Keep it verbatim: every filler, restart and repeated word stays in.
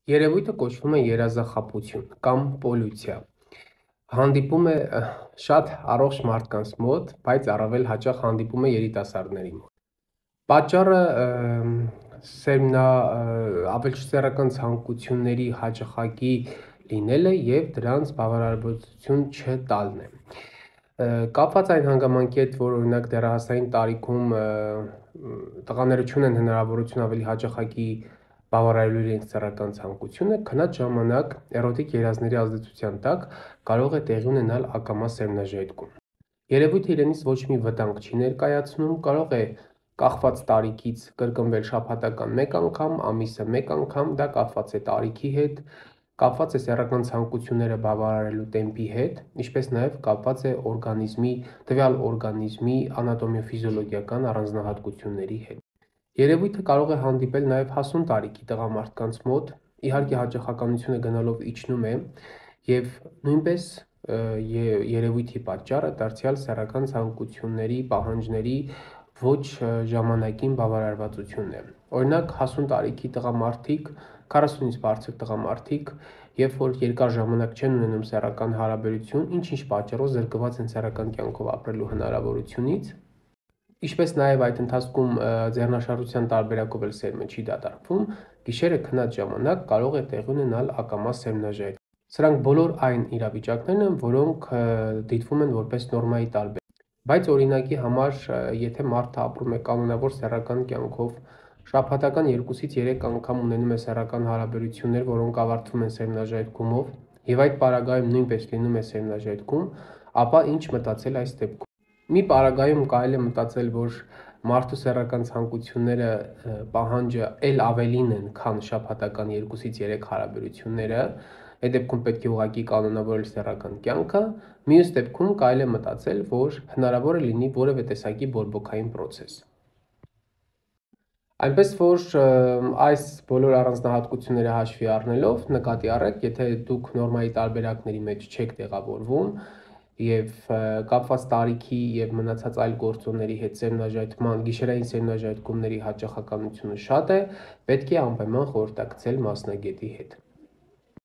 Երևույթը կոչվում է երազախաբություն կամ պոլյուցիա։ Հանդիպում է շատ առողջ մարդկանց մոտ, բայց առավել հաճախ հանդիպում է երիտասարդների մոտ։ Պատճառը սերմնա ավելսեռական ցանկությունների հաճախակի լինելը եւ դրանց բավարարվածություն չտալն է։ Կապված այն հանգամանքի հետ, որ օրինակ դեռահասային տարիքում տղաները չունեն հնարավորություն ավելի հաճախակի բավարարելու իրենց սեռական ցանկությունը, քնած ժամանակ էրոտիկ երազների ազդեցության տակ կարող է տեղի ունենալ ակամա սերմնաժայթքում։ Երևույթը իրենից ոչ մի վտանգ չի ներկայացնում, կարող է կախված տարիքից կրկնվել շաբաթական մեկ անգամ, ամիսը մեկ անգամ, դա կապված է տարիքի հետ, կապված է սեռական ցանկությունները բավարարելու տեմպի հետ, ինչպես նաև կապված է օրգանիզմի, տվյալ օրգանիզմի անատոմիա-ֆիզիոլոգիական առանձնահատկությունների հետ։ Երևույթը կարող է հանդիպել նաև հասուն տարիքի տղամարդկանց մոտ, իհարկե հաճախականությունը գնալով իջնում է եւ նույնպես երևույթի պատճառը դարձյալ սեռական ցանկությունների պահանջների ոչ ժամանակին բավարարվածությունն է։ Օրինակ հասուն տարիքի տղամարդիկ, քառասունից բարձր տղամարդիկ, երբ որ երկար ժամանակ չեն ունենում սեռական հարաբերություն, ինչ-ինչ պատճառով զրկված են սեռական կյանքով ապրելու հնարավորությունից, ինչպես նաև այդ ընթացքում ձեռնաշարժության տարբերակով էլ սերմը չի դատարկվում, գիշերը քնած ժամանակ կարող է տեղի ունենալ ակամա սերմնաժայթք։ Սրանք բոլոր այն իրավիճակներն են, որոնք դիտվում են որպես նորմայի տարբեր։ Բայց օրինակի համար, եթե մարդը ապրում է կանոնավոր սեռական կյանքով, շաբաթական երկուսից երեք անգամ ունենում է սեռական հարաբերություններ, որոնք ավարտվում են սերմնաժայթքումով, եւ այդ պարագայում նույնպես լինում է սերմնաժայթքում, ապա ինչ մտածել այս դեպքում։ Մի պարագայում կարելի է մտածել, որ մարդու սեռական ցանկությունները պահանջը ել ավելին են, քան շաբաթական երկուսից երեք հարաբերությունները, այդ դեպքում պետք է ուղղակի կանոնավորել սեռական կյանքը, մյուս դեպքում կարելի է մտածել, որ հնարավոր է լինի որևէ տեսակի բորբոքային պրոցես։ Այնպես որ այս բոլոր առանձնահատկությունները հաշվի առնելով նկատի առեք, եթե դուք նորմայի տարբերակների մեջ չեք տեղավորվում եւ կապված տարիքի եւ մնացած այլ գործոնների հետ սերմնաժայթման, գիշերային սերմնաժայթքումների հաճախականությունը շատ է, պետք է անպայման խորհրդակցել մասնագետի հետ։